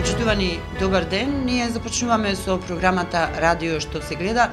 Почитувани, добар ден. Ние започнуваме со програмата Радио што се гледа.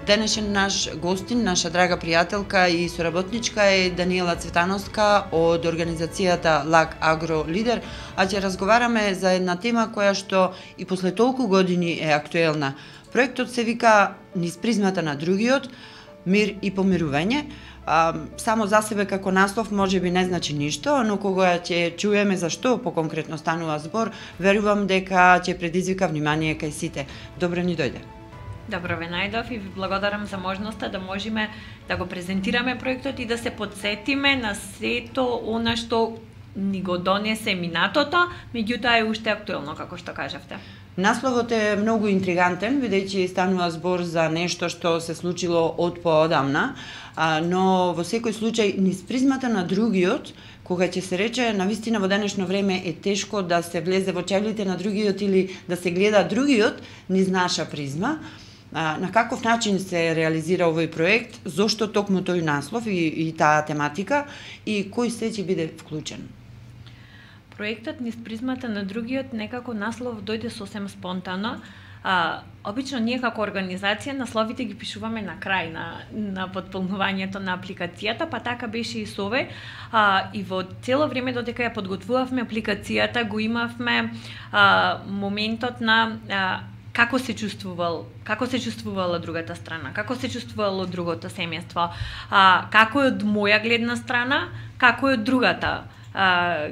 Денешен наш гостин, наша драга пријателка и соработничка е Даниела Цветановска од организацијата ЛАК Агро Лидер, а ќе разговараме за една тема која што и после толку години е актуелна. Проектот се вика Низ призмата на другиот, мир и помирување. Само за себе како наслов може би не значи ништо, но кога ќе чуеме за што поконкретно станува збор, верувам дека ќе предизвика внимание кај сите. Добро ни дојде. Добро ве најдов и ви благодарам за можноста да можеме да го презентираме проектот и да се подсетиме на сето она што ни го донесе минатото, меѓутоа е уште актуелно, како што кажавте. Насловот е многу интригантен, бидејќи станува збор за нешто што се случило од поодамна, но во секој случај низ призмата на другиот, кога ќе се рече, навистина во денешно време е тешко да се влезе во чевлите на другиот или да се гледа другиот низ наша призма. На каков начин се реализира овој проект, зошто токму тој наслов и таа тематика и кој се ќе биде вклучен? Проектот Низ призмата на другиот некако наслов дојде сосем спонтано. Обично ние како организација насловите ги пишуваме на крај на потполнувањето на апликацијата, па така беше и со овој. И во цело време додека ја подготвувавме апликацијата, го имавме моментот на како се чувствувала другата страна, како се чувствувало другото семејство, како е од моја гледна страна, како е од другата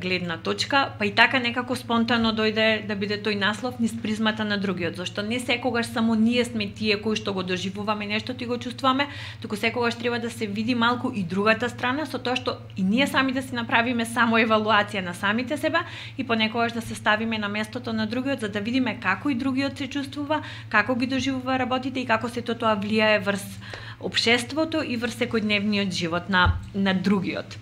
гледна точка, па и така некако спонтано дојде да биде тој наслов Низ призмата на другиот, зашто не секогаш само ние сме тие кои што го доживуваме нешто и го чувствуваме, туку секогаш треба да се види малку и другата страна, со тоа што и ние сами да си направиме само евалуација на самите себе и понекогаш да се ставиме на местото на другиот, за да видиме како и другиот се чувствува, како ги доживува работите и како сето тоа влијае врз општеството и врз секојдневниот живот на другиот.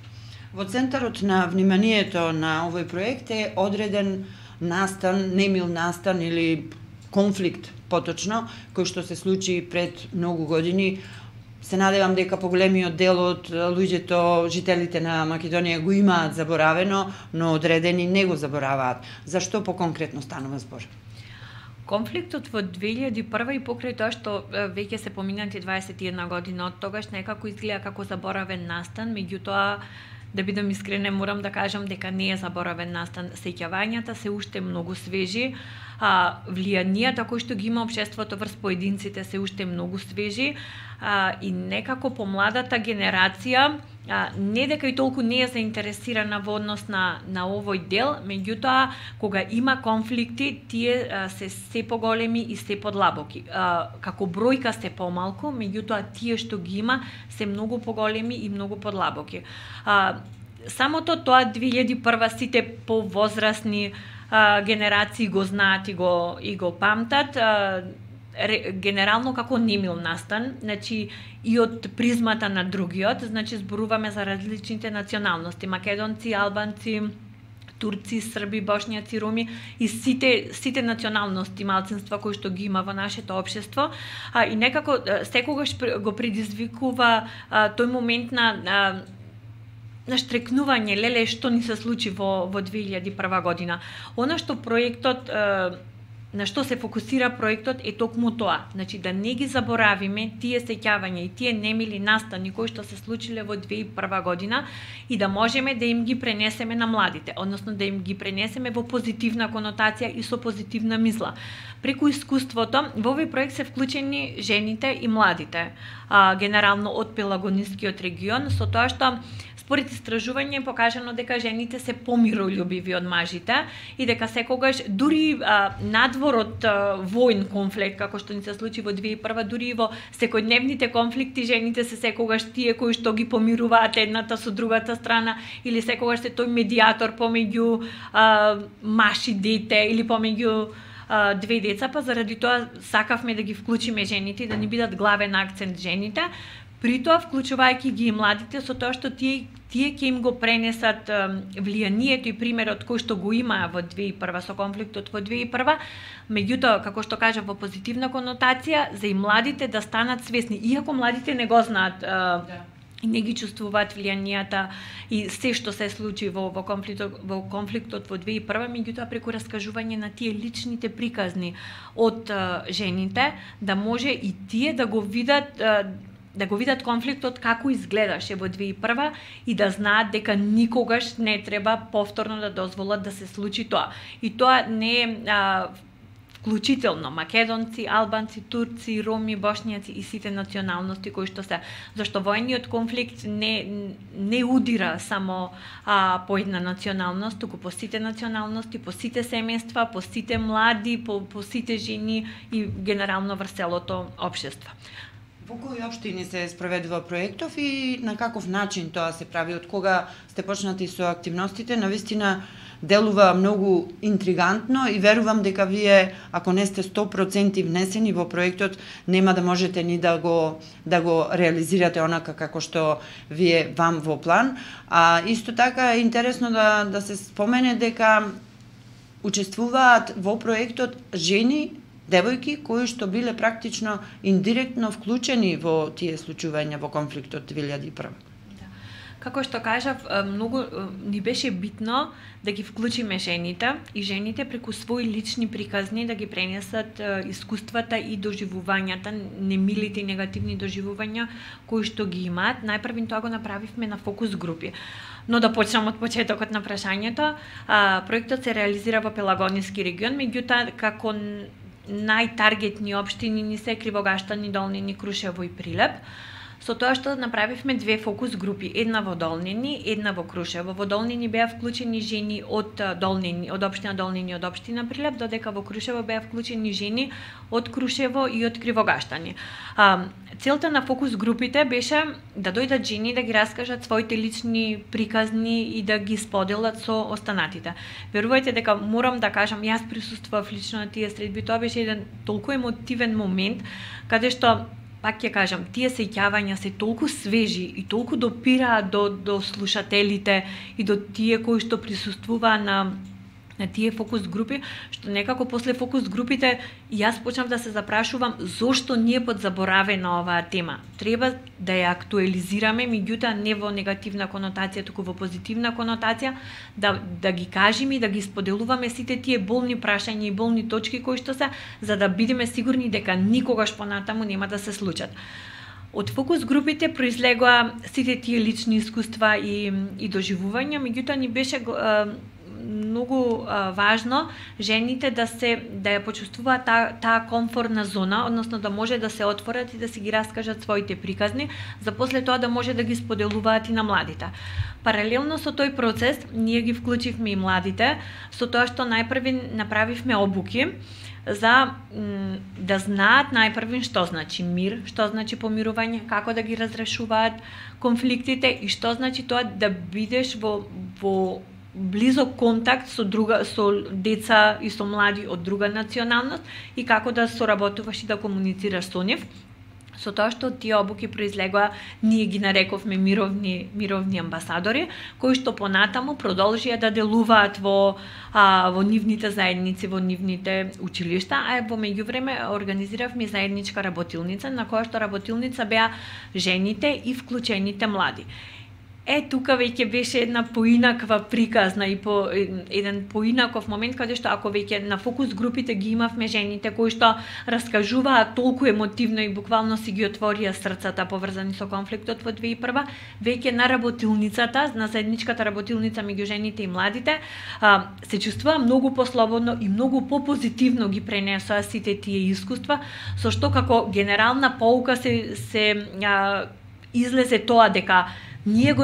Во центарот на вниманието на овој проект е одреден настан, немил настан или конфликт поточно, кој што се случи пред многу години. Се надевам дека поголемиот дел од луѓето, жителите на Македонија го имаат заборавено, но одредени не го забораваат. Зашто поконкретно станува збор? Конфликтот во 2001 и покрај тоа што веќе се поминати 21 година од тогаш некако изгледа како заборавен настан, меѓутоа да бидам искрена, морам да кажам дека не е заборавен настан. Сеќавањата се уште многу свежи, влијанијата кои што ги има општеството врз поединците се уште многу свежи и некако помладата генерација не дека и толку не е заинтересирана во однос на овој дел, меѓутоа кога има конфликти, тие се поголеми и се подлабоки. Како бројка се помалку, меѓутоа тие што ги има се многу поголеми и многу подлабоки. Самото тоа 2001 сите повозрасни генерации го знаат и го памтат, генерално како немил настан, значи и од призмата на другиот, значи зборуваме за различните националности, македонци, албанци, турци, срби, бошњаци, роми и сите националности, малцинства кои што ги има во нашето општество, и некако секогаш го предизвикува тој момент на штрекнување, леле што ни се случи во 2001 година. Она што проектот, на што се фокусира проектот е токму тоа, значи да не ги заборавиме тие сеќавања и тие немили настани кои што се случиле во 2001 година и да можеме да им ги пренесеме на младите, односно да им ги пренесеме во позитивна конотација и со позитивна мисла. Преку искуството во овој проект се вклучени жените и младите, генерално од Пелагонискиот регион, со тоа што според истражување е покажано дека жените се помирољубиви од мажите и дека секогаш дури надвор од војн конфликт, како што ни се случи во 2001, дури и во секојдневните конфликти жените се секогаш тие кои што ги помируваат едната со другата страна или секогаш се тој медијатор помеѓу маж и дете или помеѓу две деца, па заради тоа сакавме да ги вклучиме жените и да ни бидат главен акцент жените. При тоа вклучувајќи ги и младите со тоа што тие ќе им го пренесат влијанието и примерот кој што го имаа во 2001 со конфликтот во 2001, меѓутоа како што кажа во позитивна конотација за и младите да станат свесни, иако младите не го знаат и не ги чувствуваат влијанијата и се што се случи во конфликтот во 2001, меѓутоа преку раскажување на тие личните приказни од жените, да може и тие да го видат конфликтот како изгледаше во 2001 и да знаат дека никогаш не треба повторно да дозволат да се случи тоа. И тоа не е вклучително македонци, албанци, турци, роми, бошњаци и сите националности кои што се. Зашто војниот конфликт не удира само по една националност, туку по сите националности, по сите семејства, по сите млади, по сите жени и генерално врз целото општество. Во кои општини се спроведува проектов и на каков начин тоа се прави? Од кога сте почнати со активностите? Навистина делува многу интригантно и верувам дека вие, ако не сте 100% внесени во проектот, нема да можете ни да го реализирате онака како што вие вам во план. А исто така е интересно да се спомене дека учествуваат во проектот жени, девојки кои што биле практично индиректно вклучени во тие случувања во конфликтот 2001. Како што кажав, многу ни беше битно да ги вклучиме жените и жените преку своји лични приказни да ги пренесат искуствата и доживувањата, немилите и негативни доживувања кои што ги имаат. Најпрвин тоа го направивме на фокус групи. Но да почнам од почетокот на прашањето. Проектот се реализира во Пелагониски регион, меѓутоа како најтаргетни општини ни се Кривогаштани, Долнини, Крушево и Прилеп. Со тоа што направивме две фокус групи, една во Долнини, една во Крушево. Во Долнини беа вклучени жени од Долнини, од општина Долнини, од општина Прилеп, додека во Крушево беа вклучени жени од Крушево и од Кривогаштани. Целта на фокус групите беше да дојдат жени да ги раскажат своите лични приказни и да ги споделат со останатите. Верувајте дека морам да кажам, јас присуствував лично на тие средби, тоа беше еден толку емотивен момент каде што пак ќе кажам, тие сеќавања се толку свежи и толку допираат до слушателите и до тие кои што присуствуваа на тие фокус групи, што некако после фокус групите јас почнав да се запрашувам зошто ние подзаборавена оваа тема. Треба да ја актуализираме, меѓутоа не во негативна конотација, туку во позитивна конотација, да ги кажеме и да ги споделуваме сите тие болни прашања и болни точки кои што се, за да бидеме сигурни дека никогаш понатаму нема да се случат. Од фокус групите произлегоа сите тие лични искуства и доживувања, меѓутоа ни беше многу важно жените да ја почувствуваат таа комфортна зона, односно да може да се отворат и да си ги раскажат своите приказни, за после тоа да може да ги споделуваат и на младите. Паралелно со тој процес, ние ги вклучивме и младите, со тоа што најпрви направивме обуки за да знаат најпрвин што значи мир, што значи помирување, како да ги разрешуваат конфликтите и што значи тоа да бидеш во близок контакт со деца и со млади од друга националност и како да соработуваш и да комуницираш со нив. Со тоа што тие обуки произлегоа, ние ги нарековме мировни амбасадори, кои што понатаму продолжија да делуваат во нивните заедници, во нивните училишта, а во меѓувреме организиравме заедничка работилница, на која што работилница беа жените и вклучените млади. Тука веќе беше една поинаква приказна и еден поинаков момент каде што ако веќе на фокус групите ги имавме жените кои што раскажуваат толку емотивно и буквално си ги отворија срцата поврзани со конфликтот во 2001, веќе на работилницата, на заедничката работилница меѓу жените и младите, се чувствува многу послободно и многу попозитивно ги пренесоа сите тие искуства, со што како генерална поука се излезе тоа дека ние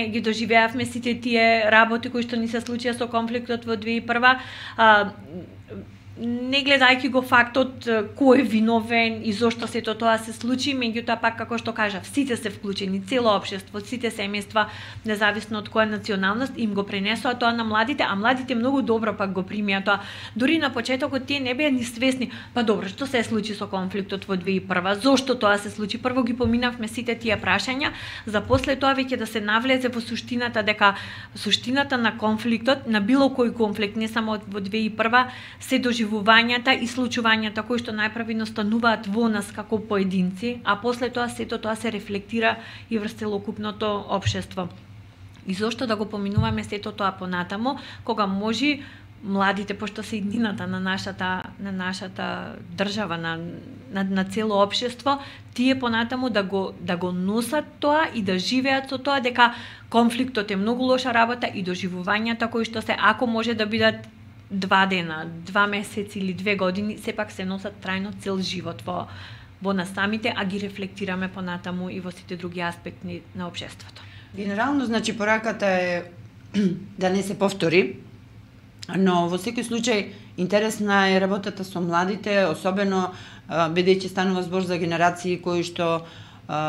ги доживеавме сите тие работи кои што ни се случија со конфликтот во 2001, не гледајќи го фактот кој е виновен и зошто сето тоа се случи, меѓутоа пак како што кажав, сите се вклучени, цело општество, сите семејства, независно од која националност, им го пренесоа тоа на младите, а младите многу добро пак го примија тоа. Дури на почетокот тие не беа ни свесни, па добро, што се случи со конфликтот во 2001, зошто тоа се случи? Прво ги поминавме сите тие прашања, за после тоа веќе да се навлезе во суштината, дека суштината на конфликтот, на било кој конфликт, не само во 2001, се доживувањата и случувањата кои што најпрви настануваат во нас како поединци, а после тоа сето тоа се рефлектира и врз целокупното општество. И зошто да го поминуваме сето тоа понатамо, кога може младите, пошто се иднината на нашата држава, на цело општество, тие понатаму да го носат тоа и да живеат со тоа дека конфликтот е многу лоша работа и доживувањата кои што се, ако може да бидат 2 дена, 2 месеци или 2 години, сепак се носат трајно цел живот во нас самите, а ги рефлектираме понатаму и во сите други аспекти на општеството. Генерално, значи, пораката е да не се повтори, но во секој случај интересна е работата со младите, особено бидејќи станува збор за генерации кои што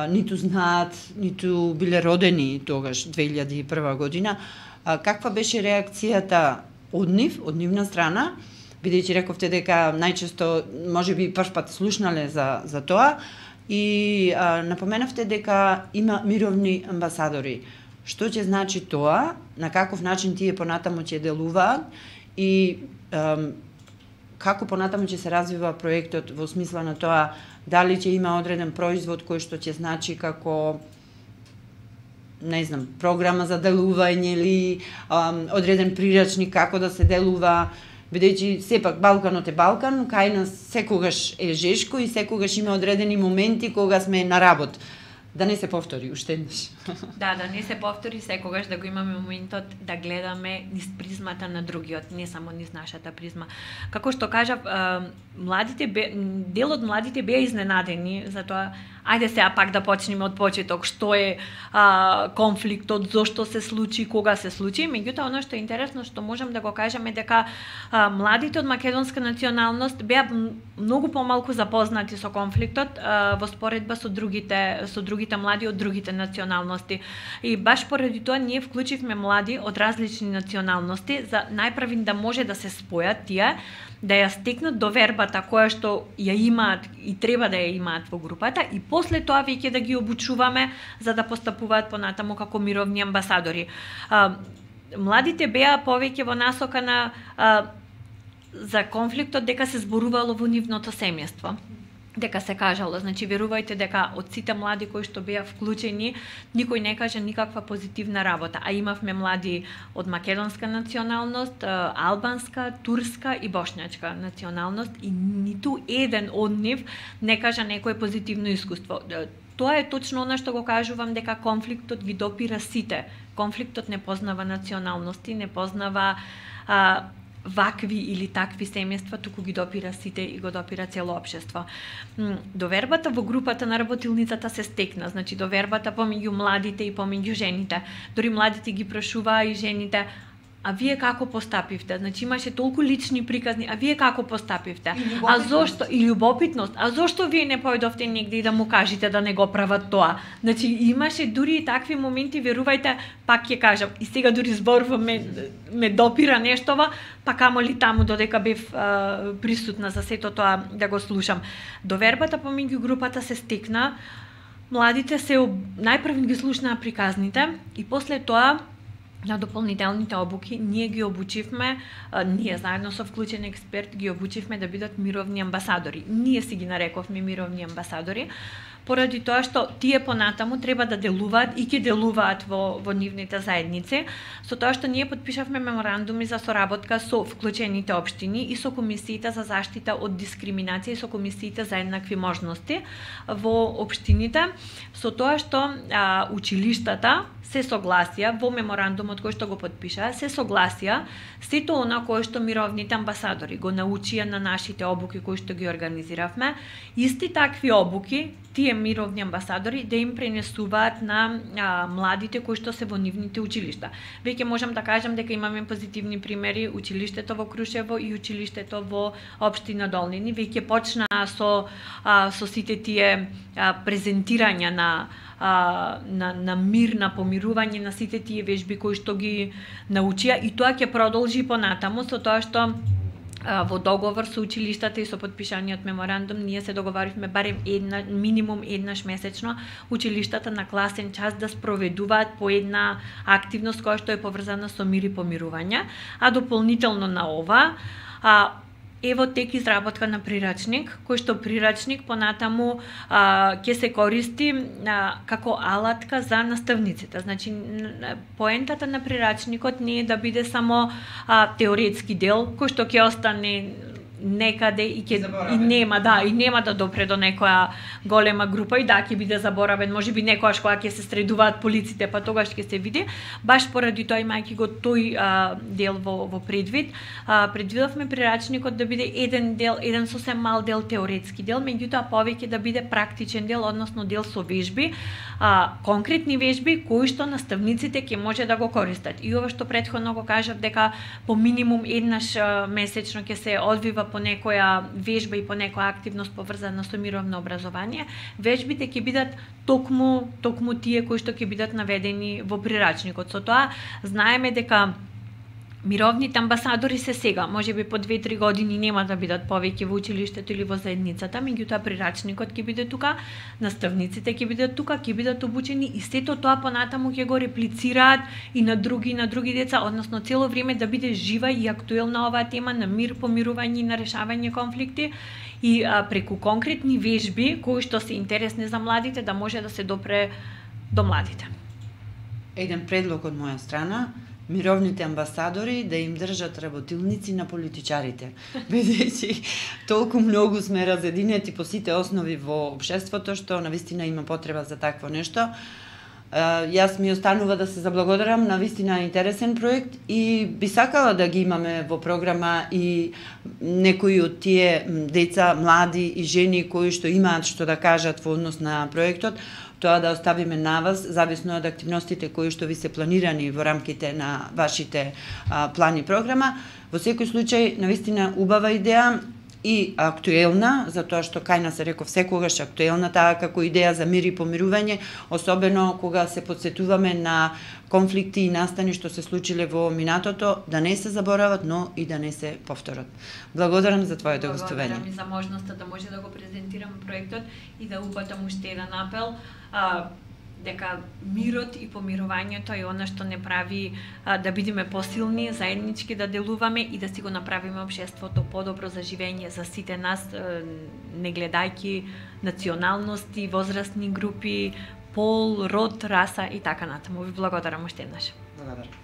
ниту знаат, ниту биле родени тогаш 2001 година. Каква беше реакцијата од нивна страна, бидејќи рековте дека најчесто можеби прв пат слушнале за тоа и напоменавте дека има мировни амбасадори. Што ќе значи тоа, на каков начин тие понатаму ќе делуваат и како понатаму ќе се развива проектот во смисла на тоа дали ќе има одреден производ кој што ќе значи како не знам, програма за делување или одреден прирачник како да се делува, бидејќи сепак Балканот е Балкан, кај нас секогаш е жешко и секогаш има одредени моменти кога сме на работ. Да не се повтори уште еднаш. Да не се повтори секогаш, да го имаме моментот да гледаме низ призмата на другиот, не само низ нашата призма. Како што кажав, дел од младите беа изненадени за тоа. Ајде сега пак да почнеме од почеток, што е конфликтот, зошто се случи, кога се случи. Меѓутоа, оно што е интересно, што можам да го кажеме дека младите од македонска националност беа многу помалку запознати со конфликтот во споредба со другите млади од другите националности. И баш поради тоа ние вклучивме млади од различни националности за најпрви да може да се спојат тие, да ја стекнат довербата која што ја имаат и треба да ја имаат во групата и после тоа веќе да ги обучуваме за да постапуваат понатаму како мировни амбасадори. Младите беа повеќе во насока на за конфликтот дека се зборувало во нивното семејство. Дека се кажало, значи верувајте дека од сите млади кои што беа вклучени, никој не кажа никаква позитивна работа, а имавме млади од македонска националност, албанска, турска и бошњачка националност и ниту еден од нив не кажа некое позитивно искуство. Тоа е точно она што го кажувам дека конфликтот ги допира сите. Конфликтот не познава националности, не познава вакви или такви семејства, туку ги допира сите и го допира цело општество. Довербата во групата на работилницата се стекна, значи довербата помеѓу младите и помеѓу жените. Дори младите ги прашуваа и жените: а вие како постапивте? Значи имаше толку лични приказни, а вие како постапивте? А зошто? И љубопитност. А зошто вие не појдовте негде и да му кажете да не го прават тоа? Значи имаше дури и такви моменти, верувајте, пак ќе кажам, и сега дури зборувам ме допира нештова, па камоли таму додека бев присутна за сето тоа да го слушам. Довербата помеѓу групата се стекна, младите се најпрв ги слушнаа приказните и после тоа на дополнителните обуки ние ги обучивме, ние заедно со вклучен експерт ги обучивме да бидат мировни амбасадори. Ние си ги нарековме мировни амбасадори, поради тоа што тие понатаму треба да делуваат и ќе делуваат во нивните заедници, со тоа што ние подпишавме меморандуми за соработка со вклучените општини и со комисиите за заштита од дискриминација и со комисиите за еднакви можности во општините, со тоа што училиштата се согласија во меморандумот кој што го подпишаа, се согласија сето она кое што мировните амбасадори го научија на нашите обуки кои што ги организиравме, исти такви обуки тие мировни амбасадори да им пренесуваат на младите кои што се во нивните училишта. Веќе можам да кажам дека имаме позитивни примери, училиштето во Крушево и училиштето во општина Долнини веќе почнаа со сите тие презентирања на мир, на помирување, на сите тие вежби кои што ги научија и тоа ќе продолжи понатаму со тоа што во договор со училиштата и со подпишаниот меморандум ние се договоривме барем минимум еднаш месечно училиштата на класен час да спроведуваат по една активност која што е поврзана со мир и помирување, а дополнително на ова Ево тек изработка на прирачник, кој што прирачник понатаму ќе се користи како алатка за наставниците. Значи, поентата на прирачникот не е да биде само теоретски дел, кој што ќе остане некаде и нема да допре до некоја голема група и ќе биде заборавен, можеби некојаш кога ќе се средуваат полиците, па тогаш ќе се види. Баш поради тоа, имајќи го тој дел во предвид, предвидовме прирачникот да биде еден сосем мал дел теоретски дел, меѓутоа повеќе да биде практичен дел, односно дел со вежби, конкретни вежби кои што наставниците ќе може да го користат. И ова што претходно го кажав, дека по минимум еднаш месечно ќе се одвива по некоја вежба и по некоја активност поврзана со мировно образование, вежбите ќе бидат токму тие кои што ќе бидат наведени во прирачникот. Со тоа знаеме дека мировните амбасадори се сега, можеби по 2-3 години нема да бидат повеќе во училиштето или во заедницата, меѓутоа прирачникот ќе биде тука, наставниците ќе бидат тука, ќе бидат обучени и сето тоа понатаму ќе го реплицираат и на други деца, односно цело време да биде жива и актуелна оваа тема на мир, помирување и на решавање конфликти и преку конкретни вежби кои што се интересни за младите да може да се допре до младите. Еден предлог од моја страна, мировните амбасадори да им држат работилници на политичарите. Бидејќи толку многу сме разединети по сите основи во општеството што навистина има потреба за такво нешто. Јас ми останува да се заблагодарам на вистина интересен проект и би сакала да ги имаме во програма и некои од тие деца, млади и жени кои што имаат што да кажат во однос на проектот, тоа да оставиме на вас, зависно од активностите кои што ви се планирани во рамките на вашите плани и програма. Во секој случај, навистина убава идеја и актуелна, затоа што кај нас се реков секогаш актуелна таа како идеја за мир и помирување, особено кога се подсетуваме на конфликти и настани што се случиле во минатото, да не се заборават, но и да не се повторат. Благодарам за твоето гостување. Благодарам и за можноста да може да го презентирам проектот и да упатам уште еден апел, дека мирот и помирувањето е она што не прави да бидеме посилни, заеднички да делуваме и да си го направиме општеството подобро за живење за сите нас, не гледајќи националности, возрастни групи, пол, род, раса и така натаму. Ви благодарам уште еднаш. Благодарам.